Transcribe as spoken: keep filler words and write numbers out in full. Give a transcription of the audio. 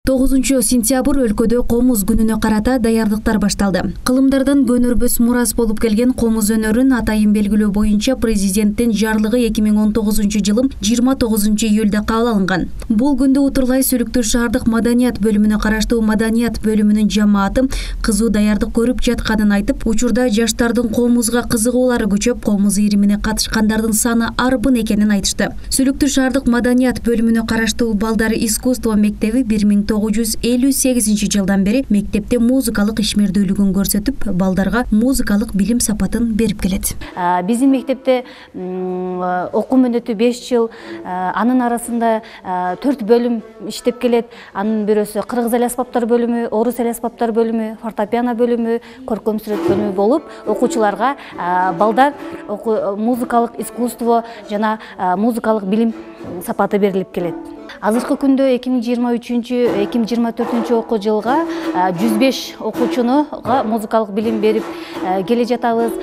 тогузунчу сентябрь өлкөдө комуз күнүнө карата даярдыктар башталды. Кылымдардан көнөрбөс мурас болуп келген комуз өнөрүн атайын белгилөө боюнча президенттин жарлыгы эки миң он тогузунчу жылы жыйырма тогузунчу июлда кабыл алынган. Бул күндө Утурлай Сүлүктүү шаардык маданият бөлүмүнө караштуу маданият бөлүмүнүн жамааты кызуу даярдык көрүп жатканын айтып, учурда жаштардын комузга кызыгуулары күчөп, комуз ийримине катышкандардын саны арбын экенин айтышты. Сүлүктүү шаардык маданият бөлүмүнө караштуу балдар искусство мектеби бир миң тогуз жүз элүү сегизинчи жылдан бери мектепте музыкалык ишмердүүлүгүн көрсөтүп, балдарга музыкалык билим сапатын берип келет. Биздин мектепте окуу мөөнөтү беш жыл, анын арасында төрт бөлүм иштеп келет. Анын бирөөсү кыргыз эл аспаптар бөлүмү, орус эл аспаптар бөлүмү, фортепиано бөлүмү, көркөм сүрөт бөлүмү болуп, окуучуларга балдар музыкалык искусство жана музыкалык билим сапаты берилип келет. Азыркы күндө эки миң жыйырма үчүнчү эки миң жыйырма төртүнчү окуу жылга жүз беш окуучуга музыкалык билим берип келе жатабыз.